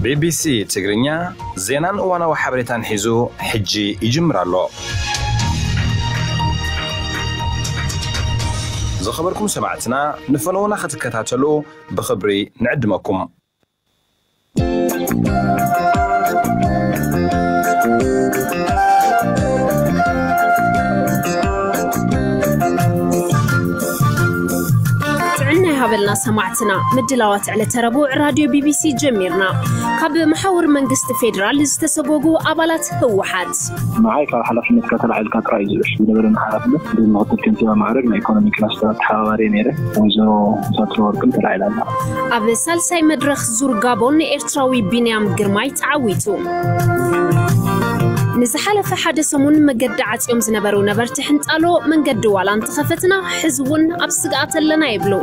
ቢቢሲ ትግርኛ ዜናን እዋናዊ ሓበሬታን ሒዙ ሕጂ ይጅምር ኣሎ። ዝኸበርኩም ሰማዕትና፣ ንፈነውና ክትከታተሉ ብኽብሪ ንዕድመኩም። ጥዕና ይሃበልና ሰማዕትና። ምድላዋት ዕለተ ረቡዕ ራድዮ ቢቢሲ ጀሚርና። ካብ መሓውር መንግስቲ ፌዴራል ዝተሰጎጉ ኣባላት ህወሓት። ንዓይ ካብ ሓላፍነትካ ተላዒልካ ጥራይ እዩ ዝብል ዝነበረኒ ሓላፍነት። ብምክትል ከንቲባ ማዕረግ ናይ ኢኮኖሚ ክላስተር ኣተሓባባሪ ነይረ። ወይዘሮ ሳትሮ ወርቅም ተላዒላ ኣላ። ኣብ ሳልሳይ መድረኽ ዙር ጋቦን ኤርትራዊ ቢንያም ግርማይ ተዓዊቱ። ንዝሓለፈ ሓደ ሰሙን መገዲ ዓጽዮም ዝነበሩ ነበርቲ ሕንጣሎ መንገዲ ዋላ እንተኸፈትና ሕዚ እውን ኣብ ስግኣት ኣለና ይብሉ።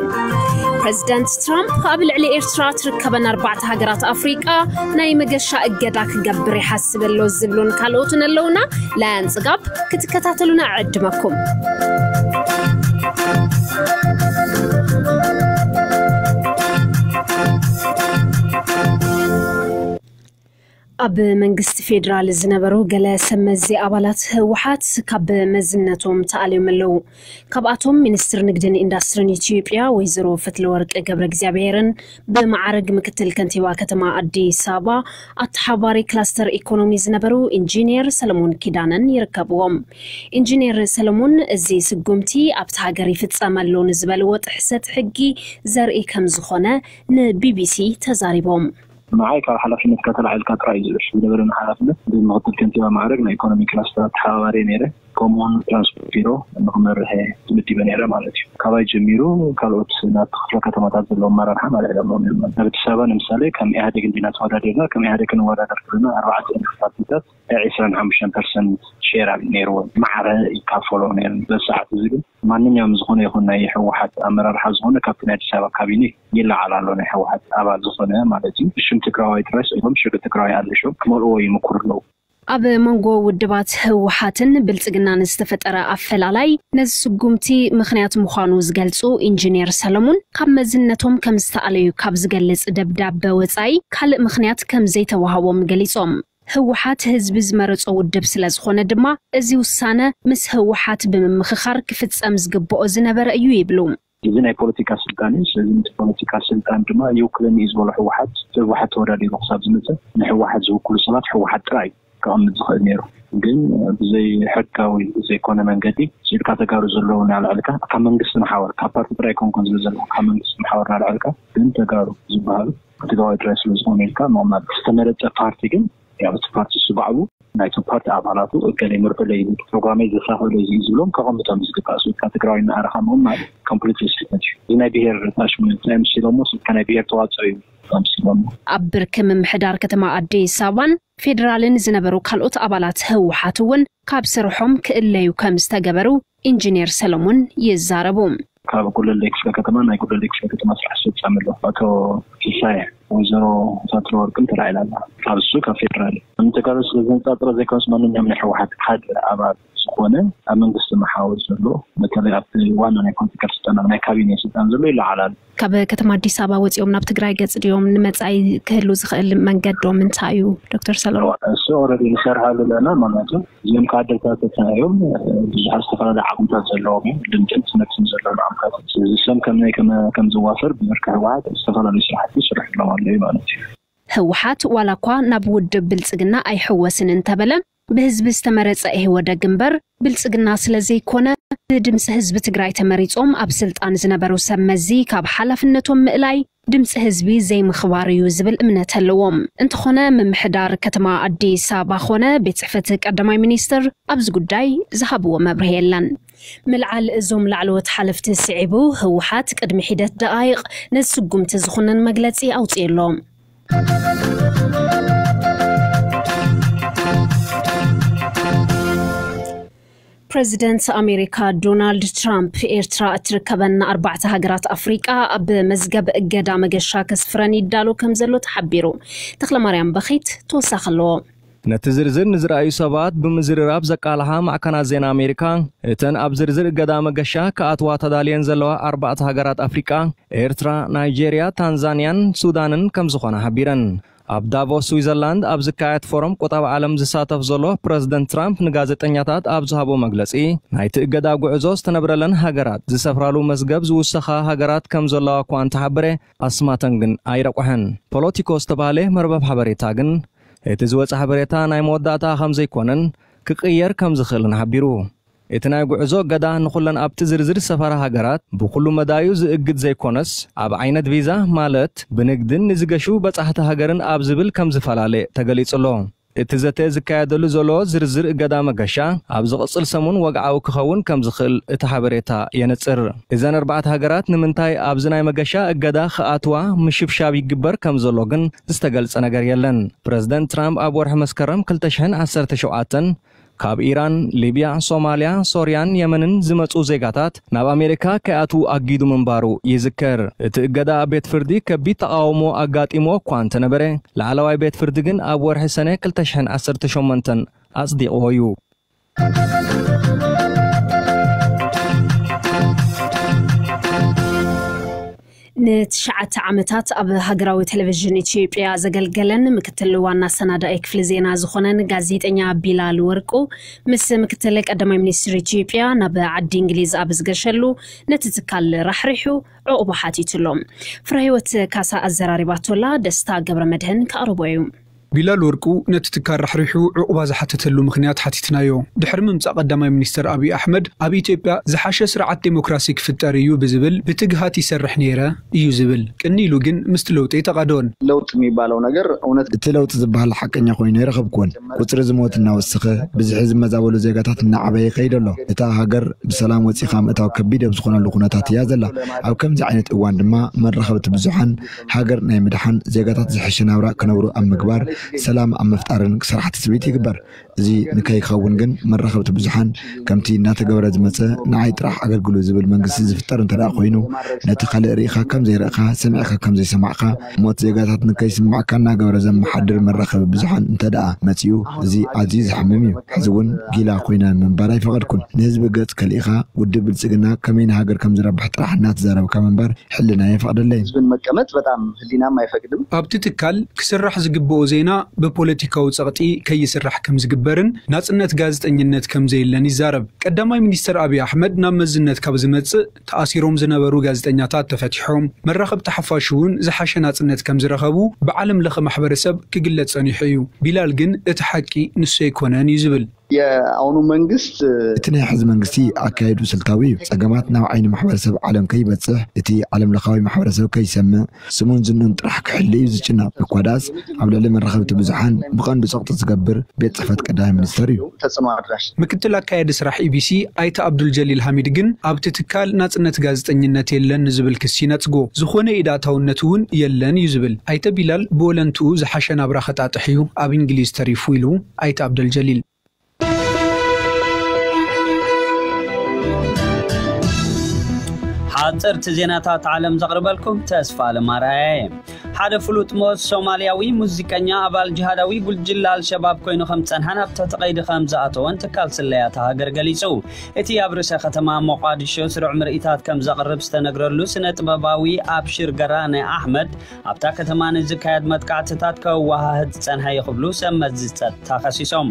ፕረዚደንት ትራምፕ ኣብ ልዕሊ ኤርትራ ትርከበን ኣርባዕተ ሃገራት ኣፍሪቃ ናይ መገሻ እገዳ ክገብር ይሓስብ ኣሎ ዝብሉን ካልኦትን ኣለውና። ላያን ጽጋብ ክትከታተሉና ዕድመኩም። ኣብ መንግስቲ ፌዴራል ዝነበሩ ገለ ሰብ መዚ ኣባላት ህወሓት ካብ መዝነቶም ተኣልዮም ኣለዉ። ካብኣቶም ሚኒስትር ንግድን ኢንዱስትሪን ኢትዮጵያ ወይዘሮ ፈትለወርቅ ገብረ እግዚኣብሔርን ብመዓረግ ምክትል ከንቲባ ከተማ ኣዲስ ኣበባ ኣተሓባሪ ክላስተር ኢኮኖሚ ዝነበሩ ኢንጂኒየር ሰለሞን ኪዳነን ይርከብዎም። ኢንጂኒየር ሰለሞን፣ እዚ ስጉምቲ ኣብቲ ሃገር ይፍጸም ኣሎ ንዝበልዎ ጥሕሰት ሕጊ ዘርኢ ከም ዝኾነ ንቢቢሲ ተዛሪቦም። ንዓይ ካብ ሓላፍነትካ ተላዒልካ ጥራይ እዩ ዝብል ዝነበረኒ ሓላፍነት። ብምክትል ከንቲባ ማዕረግ ናይ ኢኮኖሚ ክላስተር ኣተሓባባሪ ነይረ። ከምኡውን ትራንስፖርት ቢሮ ንክመርሕ ተመዲበ ነይረ ማለት እዩ። ካባይ ጀሚሩ ካልኦት ናብቲ ክፍለ ከተማታት ዘለዉ ኣመራርሓ ኣልዒሎምዎም እዮም። ኣብ ኣዲስ ኣበባ ንምሳሌ ከም ኢህኣዴግ እንዲና ተወዳዲርና፣ ከም ኢህኣዴግ ክንወዳደር ከለና ኣርባዕተ ፓርቲታት ዕስራን ሓሙሽተን ፐርሰንት ሼር ኣብ ነይርዎ፣ ማዕረ ይካፈሎ ነይሩ። በዚ ሰዓት እዚ ግን ማንኛውም ዝኾነ ይኹን ናይ ህወሓት ኣመራርሓ ዝኾነ ካብቲ ናይ ኣዲስ ኣበባ ካቢኔ ይለዓል ኣሎ፣ ናይ ህወሓት ኣባል ዝኾነ ማለት እዩ። ሽም ትግራዋይ ጥራይ ስኢሎም ሽግ ትግራዋይ ኣልሾም ክመልእዎ ይምኩሩ ኣለዉ። ኣብ መንጎ ውድባት ህወሓትን ብልጽግናን ዝተፈጠረ ኣፈላላይ ነዚ ስጉምቲ ምኽንያት ምዃኑ ዝገልጹ ኢንጂነር ሰለሙን፣ ካብ መዝነቶም ከም ዝተኣለዩ ካብ ዝገልጽ ደብዳበ ወጻኢ ካልእ ምኽንያት ከም ዘይተዋህቦም ገሊጾም። ህወሓት ህዝቢ ዝመረጾ ውድብ ስለ ዝኾነ ድማ፣ እዚ ውሳነ ምስ ህወሓት ብምምኽኻር ክፍጸም ዝግብኦ ዝነበረ እዩ ይብሉ። እዚ ናይ ፖለቲካ ስልጣን እዩ። ስለዚ ነቲ ፖለቲካ ስልጣን ድማ ይውክለኒ እዩ ዝበሎ ህወሓት፣ ህወሓት ተወዳዲሩ ክሳብ ዝመፀ ንህወሓት ዝውክሉ ሰባት ህወሓት ጥራይ ከቐምጥ ዝኽእል ነይሩ። ግን ብዘይ ሕጋዊ ብዘይኮነ መንገዲ ስኢልካ ተጋሩ ዘለዉ እናልዐልካ ካብ መንግስቲ መሓወር፣ ካብ ፓርቲ ጥራይ ኣይኮንኩን ዝብል ዘለኹ፣ ካብ መንግስቲ መሓወር እናልዐልካ ግን ተጋሩ ዝበሃሉ ትግራዋይ ጥራይ ስለ ዝኾኑ ኢልካ ምቕማጥ። ዝተመረፀ ፓርቲ ግን ያው እቲ ፓርቲ እሱ ባዕሉ ናይቶም ፓርቲ ኣባላቱ እገሌ ምርዑለይ፣ ፕሮግራመይ ዘሳኽዕሎ እዚ እዩ ዝብሎም ከቐምጦም ዝግባእ። ስኢልካ ትግራዋይ እናኣረኻ ምቕማጥ ኮምፕሊትሊ ስህተት እዩ። እዚ ናይ ብሄር ታሽመንት ናይ ምስሎሞ ስኢልካ ናይ ብሄር ተዋፅኦ እዩ ምስሎሞ። ኣብ ብርኪ ምምሕዳር ከተማ ኣዲስ ኣበባን ፌዴራልን ዝነበሩ ካልኦት ኣባላት ህወሓት እውን ካብ ስርሖም ክእለዩ ከም ዝተገበሩ ኢንጂነር ሰለሞን ይዛረቡ። ካብ ጉለሌ ክፍለ ከተማ ናይ ጉለሌ ክፍለ ከተማ ስራሕ ኣስፈጻሚ ኣሎ ኣቶ ሲሳይ፣ ወይዘሮ ሳትሮ ወርቅን ተላዒላ ኣላ። ካብ እሱ ካብ ፌዴራል ንተጋሩ ስለ ዘነጻጽረ ዘይኮነስ ማንኛውም ናይ ህወሓት ሓደ ኣባል ዝኾነ ኣብ መንግስቲ መሓውር ዘሎ በተለይ ኣብቲ ዋና ናይ ፖለቲካል ስልጣን ኣብ ናይ ካቢኔ ስልጣን ዘሎ ይለዓላል። ካብ ከተማ ኣዲስ ኣበባ ወፂኦም ናብ ትግራይ ገፅ ድዮም ንመፃኢ ክህሉ ዝኽእል መንገዶም እንታይ እዩ ዶክተር ሰለሞን? እሱ ኦልሬዲ ንሰርሓሉ ኣለና ማለት እዩ። እዚኦም ከዓ ኣደልታተትና እዮም። ብዙሓት ዝተፈላለዩ ዓቕምታት ዘለዎም እዮም። ልምድን ትምህርትን ዘለዎም ዓቕምታት። ስለዚ እሶም ከመይ ከመ-፣ ከም ዝዋፈር ብብርኪ ህወሓት ዝተፈላለዩ ስራሕቲ ይስርሑ ኣለዉ ኣለዉ ማለት እዩ። ህወሓት ዋላ እኳ ናብ ውድብ ብልፅግና ኣይሕወስን እንተበለ፣ ብህዝቢ ዝተመረፀ ኢህወደግ እምበር ብልፅግና ስለ ዘይኮነ፣ ብድምፂ ህዝቢ ትግራይ ተመሪፆም ኣብ ስልጣን ዝነበሩ ሰብ መዚ ካብ ሓላፍነቶም ምእላይ ድምፂ ህዝቢ ዘይምኽባር እዩ ዝብል እምነት ኣለዎም። እንተኾነ ምምሕዳር ከተማ ኣዲስ ኣበባ ኾነ ቤት ጽሕፈት ቀዳማይ ሚኒስትር ኣብዚ ጉዳይ ዝሃብዎ መብርሂ የለን። ምልዓል እዞም ላዕለዎት ሓለፍቲ ስዒቡ ህወሓት ቅድሚ ሒደት ደቓይቕ ነዚ ስጉምቲ ዝኹንን መግለጺ ኣውጺኡ ኣሎ። ፕረዚደንት ኣሜሪካ ዶናልድ ትራምፕ ኤርትራ እትርከበን ኣርባዕተ ሃገራት ኣፍሪቃ ኣብ መዝገብ እገዳ መገሻ ከስፍረን ይዳሎ ከም ዘሎ ተሓቢሩ። ተኽለማርያም በኺት ተወሳኺ ኣለዎ። ነቲ ዝርዝር ንዝረኣዩ ሰባት ብምዝርራብ ዘቃልሓ ማዕከናት ዜና ኣሜሪካ፣ እተን ኣብ ዝርዝር እገዳ መገሻ ክኣትዋ ተዳልየን ዘለዋ ኣርባዕተ ሃገራት ኣፍሪቃ፣ ኤርትራ፣ ናይጄርያ፣ ታንዛንያን ሱዳንን ከም ዝኾና ሓቢረን። ኣብ ዳቮስ ስዊዘርላንድ ኣብ ዝካየድ ፎረም ቁጠባ ዓለም ዝሳተፍ ዘሎ ፕረዚደንት ትራምፕ ንጋዜጠኛታት ኣብ ዝሃቦ መግለጺ፣ ናይቲ እገዳ ጉዕዞ ዝተነብረለን ሃገራት ዝሰፍራሉ መዝገብ ዝውሰኻ ሃገራት ከም ዘለዋ እኳ እንተሓበረ፣ ኣስማተን ግን ኣይረቑሐን። ፖለቲኮ ዝተባህለ መርበብ ሓበሬታ ግን፣ እቲ ዝወጸ ሓበሬታ ናይ መወዳእታ ከም ዘይኮነን ክቕየር ከም ዝኽእልን ሓቢሩ። እቲ ናይ ጉዕዞ እገዳ ንኹለን ኣብቲ ዝርዝር ዝሰፈራ ሃገራት ብኹሉ መዳዩ ዝእግድ ዘይኮነስ፣ ኣብ ዓይነት ቪዛ፣ ማለት ብንግድን ንዝገሹ በጻሕቲ ሃገርን ኣብ ዝብል ከም ዝፈላለ ተገሊጹ ኣሎ። እቲ ዘተ ዝካየደሉ ዘሎ ዝርዝር እገዳ መገሻ ኣብ ዝቕጽል ሰሙን ወግዓዊ ክኸውን ከም ዝኽእል እቲ ሓበሬታ የነጽር። እዘን ኣርባዕተ ሃገራት ንምንታይ ኣብዚ ናይ መገሻ እገዳ ክኣትዋ ምሽብሻብ ይግበር ከም ዘሎ ግን ዝተገልጸ ነገር የለን። ፕረዚደንት ትራምፕ ኣብ ወርሒ መስከረም ክልተ ሽሕን ዓሰርተ ሸውዓተን ካብ ኢራን፣ ሊብያ፣ ሶማልያ፣ ሶርያን የመንን ዝመጹ ዜጋታት ናብ ኣሜሪካ ከይኣትዉ ኣጊዱ ምንባሩ ይዝከር። እቲ እገዳ ኣብ ቤት ፍርዲ ከቢድ ተቓውሞ ኣጋጢሞ እኳ እንተነበረ፣ ላዕለዋይ ቤት ፍርዲ ግን ኣብ ወርሒ ሰነ ክልተ ሽሕን ዓሰርተ ሸሞንተን ኣጽዲቕዎ እዩ። ንትሽዓተ ዓመታት ኣብ ሃገራዊ ቴሌቪዥን ኢትዮጵያ ዘገልገለን ምክትል ዋና ኣሰናዳኢ ክፍሊ ዜና ዝኾነን ጋዜጠኛ ቢላል ወርቁ ምስ ምክትል ቀዳማይ ሚኒስትር ኢትዮጵያ ናብ ዓዲ እንግሊዝ ኣብ ዝገሸሉ ነቲ ትካል ራሕሪሑ ዕቑባ ሓቲቱሎም። ፍረህይወት ካሳ ኣዘራሪባቶላ፣ ደስታ ገብረ መድህን ከቕርቦ እዩ። ቢላል ወርቁ ነቲ ትካል ራሕሪሑ ዕቑባ ዝሓተተሉ ምኽንያት ሓቲትናዮ። ድሕሪ ምምጻእ ቀዳማይ ሚኒስተር ኣብይ ኣሕመድ ኣብ ኢትዮጵያ ዝሓሸ ስርዓት ዴሞክራሲ ክፍጠር እዩ ብዝብል ብትግሃት ይሰርሕ ነይረ እዩ ዝብል። ቅኒ ኢሉ ግን ምስቲ ለውጢ ኣይተቓደወን። ለውጥ የሚባለው ነገር እውነት እቲ ለውጢ ዝበሃል ሓቀኛ ኮይኑ ኣይረኸብኩዎን። ቁጽሪ ዝሞት እናወሰኸ፣ ብዝሒ ዝመዛበሉ ዜጋታት እናዓበየ ይኸይድ ኣሎ። እታ ሃገር ብሰላም ወጺኻ ምእታው ከቢድ ኣብ ዝኾነሉ ኩነታት እያ ዘላ። ኣብ ከምዚ ዓይነት እዋን ድማ መራኸብቲ ብዙሓን ሃገር ናይ ምድሓን፣ ዜጋታት ዝሐሸ ናብራ ክነብሩ ኣብ ምግባር፣ ሰላም ኣብ ምፍጣርን ክሰርሓ ትጽቢት ይግበር። እዚ ንከይኸውን ግን መራኸብቲ ብዙሓን ከምቲ እናተገበረ ዝመጸ ንዓይ ጥራሕ ኣገልግሉ ዝብል መንግስቲ ዝፍጠር እንተ ደኣ ኮይኑ፣ ነቲ ካልእ ርኢኻ ከም ዘይረእኻ፣ ሰሚዕካ ከም ዘይሰማዕካ፣ ሞት ዜጋታት ንከይስማዕካ እናገበረ ዘመሓድር መራኸቢ ብዙሓን እንተ ደኣ መጺኡ፣ እዚ ኣዝዩ ዘሕምም እዩ። ሕዚ እውን ጊላ ኮይነ ምንባር ኣይፈቐድኩን። ንህዝቢ ገጽ ከሊእኻ፣ ውድብ ብልጽግና ከመይ ንሃገር ከም ዝረብሕ ጥራሕ እናተዛረብካ ምንባር ሕልና የፈቕደለይ። ህዝብን መቀመጥ በጣም ህሊናም ኣይፈቅድም። ኣብቲ ትካል ክስራሕ ዝግብኦ ዜና ብፖለቲካዊ ጸቕጢ ከይስራሕ ከም ዝግበርን ናጽነት ጋዜጠኝነት ከም ዘየለን ይዛረብ። ቀዳማይ ሚኒስተር ኣብይ ኣሕመድ ናብ መዝነት ካብ ዝመጽእ፣ ተኣሲሮም ዝነበሩ ጋዜጠኛታት ተፈቲሖም፣ መራኸብቲ ሓፋሽ እውን ዝሓሸ ናጽነት ከም ዝረኸቡ ብዓለም ለኸ ማሕበረሰብ ክግለጽ ጸኒሑ እዩ። ቢላል ግን እቲ ሓቂ ንሱ ኣይኮነን እዩ ዝብል። የአሁኑ መንግስት እቲ ናይ ሕዚ መንግስቲ ኣካየዱ ስልታዊ እዩ። ጸገማት ናብ ዓይኒ ማሕበረሰብ ዓለም ከይበጽሕ፣ እቲ ዓለም ለኻዊ ማሕበረሰብ ከይሰምዕ፣ ስሙን ዝንኡን ጥራሕ ክሕሉ እዩ ዝጭነቕ። እኳ ደኣስ ኣብ ልዕሊ መራኸብቲ ብዙሓን ብቐንዱ ጸቕጢ ዝገብር ቤት ጽሕፈት ቀዳማይ ሚኒስተር እዩ። ተጽዕኖ ኣድራሽ ምክትል ኣካያዲ ስራሕ ኢቢሲ ኣይተ ኣብዱል ጀሊል ሃሚድ ግን ኣብቲ ትካል ናጽነት ጋዜጠኝነት የለን ንዝብል ክሲ ነጽጎ። ዝኾነ ኢድ ኣእታውነት እውን የለን እዩ ዝብል። ኣይተ ቢላል ብወለንትኡ ዝሓሸ ናብራ ከጣጥሕ እዩ ኣብ እንግሊዝ ተሪፉ ኢሉ ኣይተ ኣብደል ጀሊል። ሓፀርቲ ዜናታት ዓለም ዘቕርበልኩም ተስፋ ኣለማርኣየ። ሓደ ፍሉጥ ሞት ሶማልያዊ ሙዚቀኛ ኣባል ጅሃዳዊ ጉጅለ ኣልሸባብ ኮይኑ ከም ዝጸንሐን ኣብ ትሕቲ ቀይዲ ከም ዝኣተወን ትካል ስለያ እታ ሃገር ገሊጹ። እቲ ኣብ ርእሰ ከተማ ሞቓዲሾ ስሩዕ ምርኢታት ከም ዘቕርብ ዝተነግረሉ ስነ ጥበባዊ ኣብሽር ገራነ ኣሕመድ ኣብታ ከተማ ንዝካየድ መጥቃዕትታት ከወሃህድ ዝጸንሐ እዩ ክብሉ ሰብ መዚ ጸጥታ ከሲሶም።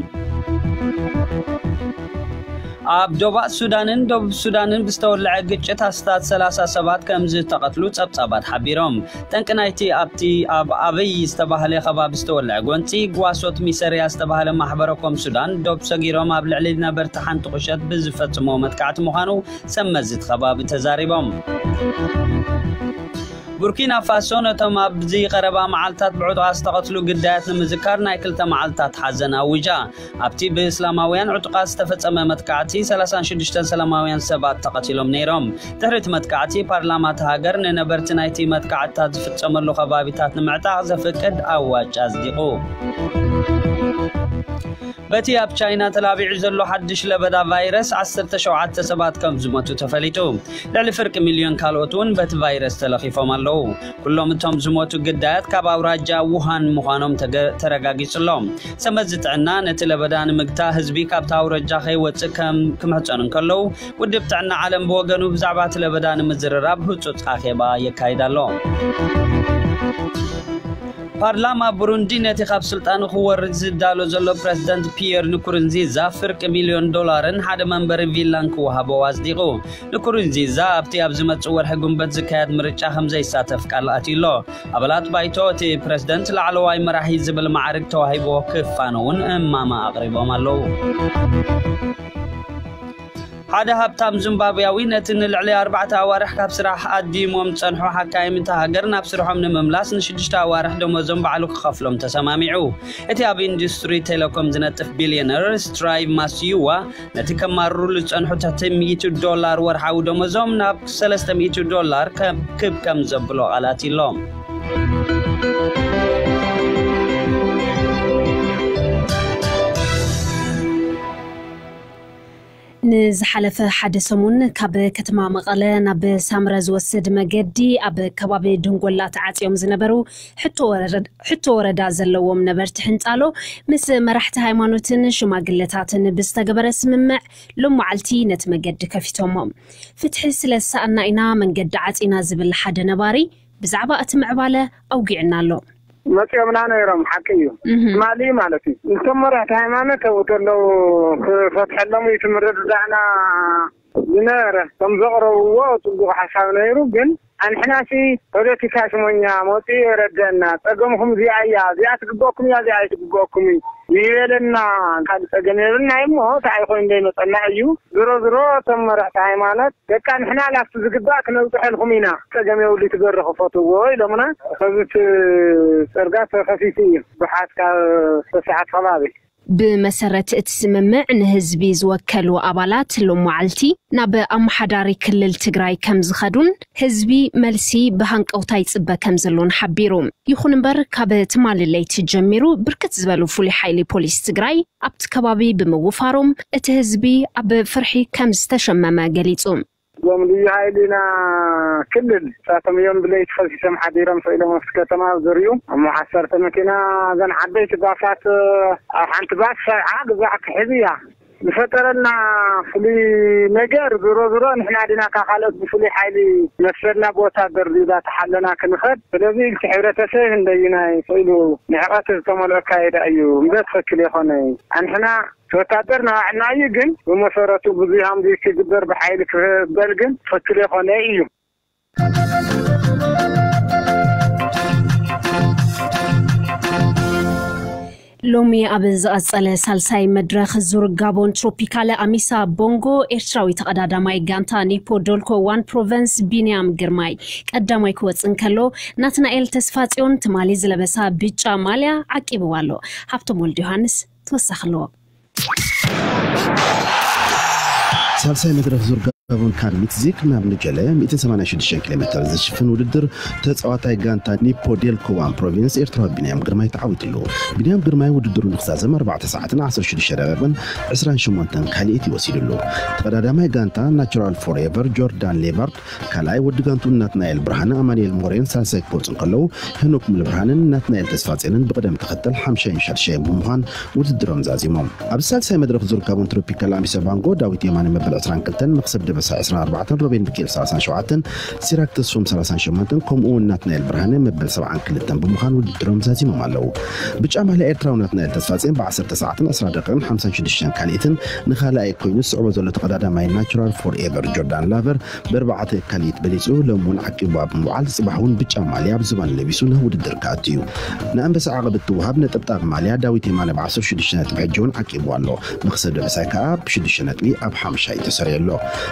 ኣብ ዶባእ ሱዳንን ደቡብ ሱዳንን ብዝተወልዐ ግጭት ኣስታት ሰላሳ ሰባት ከም ዝተቐትሉ ጸብጻባት ሓቢሮም። ጠንቂ ናይቲ ኣብቲ ኣብ ኣበይ ዝተባህለ ከባቢ ዝተወልዐ ጎንጺ ጓሶት ሚሰርያ ዝተባህለ ማሕበረ ኮም ሱዳን ዶብ ሰጊሮም ኣብ ልዕሊ ነበርቲ ሓንቲ ቁሸት ብዝፈጽሞ መጥቃዕቲ ምዃኑ ሰብ መዚ እቲ ከባቢ ተዛሪቦም። ቡርኪና ፋሶ ነቶም ኣብዚ ቀረባ መዓልታት ብዕጡቓት ዝተቐትሉ ግዳያት ንምዝካር ናይ ክልተ መዓልታት ሓዘን ኣዊጃ። ኣብቲ ብእስላማውያን ዕጡቓት ዝተፈጸመ መጥቃዕቲ ሰላሳን ሽዱሽተን ሰላማውያን ሰባት ተቐቲሎም ነይሮም። ድሕሪ እቲ መጥቃዕቲ ፓርላማ እታ ሃገር ንነበርቲ ናይቲ መጥቃዕትታት ዝፍጸመሉ ከባቢታት ንምዕጣቕ ዘፍቅድ ኣዋጅ ኣጽዲቑ። በቲ ኣብ ቻይና ተላቢዑ ዘሎ ሓድሽ ለበዳ ቫይረስ ዓሰርተ ሸውዓተ ሰባት ከም ዝሞቱ ተፈሊጡ። ልዕሊ ፍርቂ ሚልዮን ካልኦት እውን በቲ ቫይረስ ተለኺፎም ኣለዉ። ኩሎም እቶም ዝሞቱ ግዳያት ካብ ኣውራጃ ውሃን ምዃኖም ተገ-፣ ተረጋጊጹ ኣሎ። ሰብ መዚ ጥዕና ነቲ ለበዳ ንምግታእ ህዝቢ ካብቲ ኣውራጃ ከይወጽእ ከም ክምሕጸኑ እንከለዉ፣ ውድብ ጥዕና ዓለም ብወገኑ ብዛዕባ እቲ ለበዳ ንምዝርራብ ህጹጽ ኣኼባ የካይድ ኣሎ። ፓርላማ ቡሩንዲ ነቲ ካብ ስልጣኑ ክወርድ ዝዳሎ ዘሎ ፕረዚደንት ፒየር ንኩሩንዚዛ ፍርቂ ሚልዮን ዶላርን ሓደ መንበሪ ቪላን ክወሃቦ ኣጽዲቑ። ንኩሩንዚዛ ኣብቲ ኣብ ዝመጽእ ወርሒ ጉንበት ዝካየድ ምርጫ ከም ዘይሳተፍ ቃል ኣትዩ ኣሎ። ኣባላት ባይቶ እቲ ፕረዚደንት ላዕለዋይ መራሒ ዝብል ማዕርግ ተዋሂብዎ ክፋነውን እማማ ኣቕሪቦም ኣለዉ። ሓደ ሃብታም ዚምባብያዊ ነቲ ንልዕሊ ኣርባዕተ ኣዋርሕ ካብ ስራሕ ኣዲሞም ዝጸንሑ ሓካይም እታ ሃገር ናብ ስርሖም ንምምላስ ንሽዱሽተ ኣዋርሕ ደሞዞም ባዕሉ ክኸፍሎም ተሰማሚዑ። እቲ ኣብ ኢንዱስትሪ ቴሌኮም ዝነጥፍ ቢልዮነር ስትራይቭ ማስዩዋ ነቲ ከማርሩሉ ዝጸንሑ ትሕቲ ሚእቲ ዶላር ወርሓዊ ደሞዞም ናብ ሰለስተ ሚእቲ ዶላር ክብ ከም ዘብሎ ቃል ኣትዩሎም። ንዝሓለፈ ሓደ ሰሙን ካብ ከተማ መቐለ ናብ ሳምረ ዝወስድ መገዲ ኣብ ከባቢ ድንጎላ ተዓጽዮም ዝነበሩ ሕቶ ወረዳ፣ ሕቶ ወረዳ ዘለዎም ነበርቲ ሕንጻሎ ምስ መራሕቲ ሃይማኖትን ሽማግለታትን ብዝተገበረ ስምምዕ ሎም መዓልቲ ነቲ መገዲ ከፊቶሞ። ፍትሒ ስለ ዝሰኣና ኢና መንገዲ ዓጺና ዝብል ሓደ ነባሪ ብዛዕባ እቲ ምዕባለ ኣውጊዕና ኣሎ። መፂኦምና ነይሮም፣ ሓቂ እዩ። እህም። ትማሊ ማለት እዩ። እቶም መራሕቲ ሃይማኖት ኣብኡ ተለዉ ክፈትሐሎም እዩ እቲ ምርድዳእና ዝነበረ። ከም ዘቕረብዎ ፅቡቕ ሓሳብ ነይሩ፣ ግን ኣንሕናሲ ፖለቲካ ሽሞኛ መፂኡ የረደና። ፀገምኹም እዚኣ እያ፣ እዚኣ ትግበእኩም እያ፣ እዚኣ ኣይትግበእኩም እዩ ይበለና። ካልእ ፀገም የብልና እሞ እንታይ ኮይኑ ዘይመፀና እዩ። ዝሮ ዝሮ እቶም መራሕቲ ሃይማኖት በቃ ንሕና ላፍቲ ዝግባእ ክነብፅሐልኩም ኢና፣ ፀገም የብሉ ትገርኹ ፈትዎ ኢሎምና። ከዚ እቲ ፅርጋ ተኸፊቱ እዩ ብሓት ካብ ሰዓት ከባቢ። ብመሰረት እቲ ስምምዕ ንህዝቢ ዝወከሉ ኣባላት ሎም መዓልቲ ናብ ኣመሓዳሪ ክልል ትግራይ ከም ዝኸዱን ህዝቢ መልሲ ብሃንቀውታ ይፅበ ከም ዘሎን ሓቢሩ። ይኹን እምበር ካብ ትማሊ ለይቲ ጀሚሩ ብርክት ዝበሉ ፍሉይ ሓይሊ ፖሊስ ትግራይ ኣብቲ ከባቢ ብምውፋሮም እቲ ህዝቢ ኣብ ፍርሒ ከም ዝተሸመመ ገሊጹ። እዞም ልዩ ሓይልና ክልል እሳቶም እዮም ብለይቲ ከሲሶም ሓዲሮም ስኢሎም ኣብቲ ከተማ ዝርዩ። እሞ ዓሰርተ መኪና እዘን ዓበይቲ ባሳት ኣብ ሓንቲ ባስ ሰብዓ ግዛዕ ክሕዝ እያ። ዝፈጠረልና ፍሉይ ነገር ዞሮ ዞሮ ንሕና ዲና ካብ ካልኦት ብፍሉይ ሓይሊ መሰልና ብወታደር ዲላ ተሓለና ክንኸድ። ስለዚ ኢልቲ ሕብረተሰብ እንደይናይ ክኢሉ ንዕቐት ዝተመልኦ ኣካይዳ እዩ እምበር ትኽክል የኾነ። ኣንሕና ወታደር ናባዕልና እዩ፣ ግን ብመሰረቱ ብዙ ሃምዚ ክግበር ብሓይሊ ክበል ግን ትኽክል የኾነ እዩ። ሎሚ ኣብ ዝቐጸለ ሳልሳይ መድረኽ ዙር ጋቦን ትሮፒካለ ኣሚሳ ቦንጎ ኤርትራዊ ተቐዳዳማይ ጋንታ ኒፖ ዶልኮ ዋን ፕሮቨንስ ቢንያም ግርማይ ቀዳማይ ክወጽእ እንከሎ፣ ናትናኤል ተስፋጽዮን ትማሊ ዝለበሳ ብጫ ማልያ ዓቂብዋ ኣሎ። ሃብቶም ወልደ ዮሃንስ ተወሳኺ ኣለዎ። ሳልሳይ መድረኽ ዙር ጋቦን ካርሊት ዚክ ናብ ንጀለ ሚእትን ሰማንያን ሽዱሽተን ኪሎ ሜተር ዝሽፍን ውድድር ተጻዋታይ ጋንታ ኒፖ ዴልኮ ዋን ፕሮቪንስ ኤርትራዊ ቢንያም ግርማይ ተዓዊትሉ። ቢንያም ግርማይ ውድድሩ ንክዛዘም ኣርባዕተ ሰዓትን ዓሰርተ ሽዱሽተ ደቂቕን ዕስራን ሸሞንተን ካልኢት ይወሲድሉ። ተቐዳዳማይ ጋንታ ናቹራል ፎርኤቨር ጆርዳን ሌቫርድ ካልኣይ፣ ወዲ ጋንቱ ናትናኤል ብርሃነ ኣማኑኤል ሞሬን ሳልሳይ ክወፁ እንከለዉ፣ ሄኖክ ሙሉ ብርሃንን ናትናኤል ተስፋጽዮንን ብቕደም ተኸተል ሓምሻይን ሻድሻይን ብምዃን ውድድሮም ዛዚሞም። ኣብ ሳልሳይ መድረኽ ዙር ጋቦን ትሮፒካል ኣሚሳ ባንጎ ዳዊት የማነ መበል ዕስራን ክልተን፣ መኽሰብ ደበሳ ዕስራን ኣርባዕተን፣ ሮቤል ሚካኤል ሰላሳን ሸውዓተን፣ ሲራክ ተስፎም ሰላሳን ሸሞንተን፣ ከምኡ እውን ናትናኤል ብርሃነ መበል ሰብዓን ክልተን ብምዃን ውድድሮም ዛዚሞም ኣለዉ። ብጫ ማልያ ኤርትራዊ ናትናኤል ተስፋጽዮን ብዓሰርተ ሰዓትን ዕስራ ደቂቕን ሓምሳን ሽዱሽተን ካልኢትን ንኻልኣይ ኮይኑ ዝስዕቦ ዘሎ ተቐዳዳማይ ናቹራል ፎርኤቨር ጆርዳን ላቨር ብኣርባዕተ ካልኢት በሊጹ ሎም እውን ዓቂብዋ ብምውዓል ጽባሕ እውን ብጫ ማልያ ኣብ ዝባን ለቢሱ ናብ ውድድር ክኣቱ እዩ። ንኣንበሳ ዓቐብ እትወሃብ ነጠብጣብ ማልያ ዳዊት የማነ ብ ዓሰርተ ሽዱሽተ ነጥቢ ሕጂ እውን ዓቂብዋ ኣሎ። መኽሰብ ደበሳይ ከኣ ብሽዱሽተ ነጥቢ ኣብ ሓምሻይ ተሰሪዑ ኣሎ።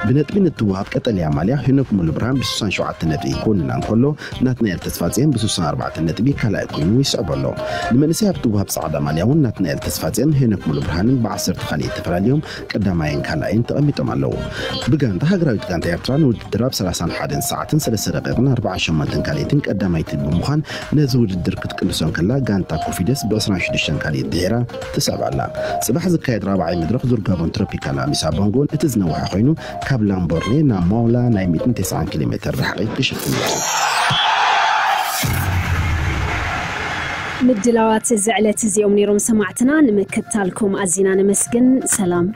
ብነጥቢ ንትወሃብ ቀጠልያ ማልያ ሄኖክ ሙሉ ብርሃን ብስሳን ሸውዓተ ነጥቢ ክውንና እንከሎ፣ ናትናኤል ተስፋጽዮን ብስሳን ኣርባዕተ ነጥቢ ካልኣይ ኮይኑ ይስዕቦ ኣሎ። ንመንእሰይ ኣብ ትወሃብ ጻዕዳ ማልያ እውን ናትናኤል ተስፋጽዮን ሄኖክ ሙሉ ብርሃንን ብዓሰርተ ካልኢት ተፈላልዮም ቀዳማይን ካልኣይን ተቐሚጦም ኣለዉ። ብጋንታ ሃገራዊት ጋንታ ኤርትራ ንውድድር ኣብ ሰላሳን ሓደን ሰዓትን ሰለስተ ደቂቕን ኣርባዓን ሸሞንተን ካልኢትን ቀዳማይቲ ብምዃን ነዚ ውድድር ክትቅልሶ እንከላ፣ ጋንታ ኮፊደስ ብዕስራን ሽዱሽተን ካልኢት ድሒራ ትስዕብ ኣላ። ጽባሕ ዝካየድ ራብዓይ መድረኽ ዙር ጋቦን ትሮፒካል ኣሚሳ ቦንጎ እቲ ዝነውሐ ኮይኑ፣ ካብ ላምቦርኔ ናብ ማውላ ናይ ሚእትን ተስዓን ኪሎ ሜተር ርሕቂ ክሽፍን እዩ። ምድላዋት እዚ ዕለት እዚኦም ነይሮም ሰማዕትና። ንምክትታልኩም ኣዚና ነመስግን። ሰላም።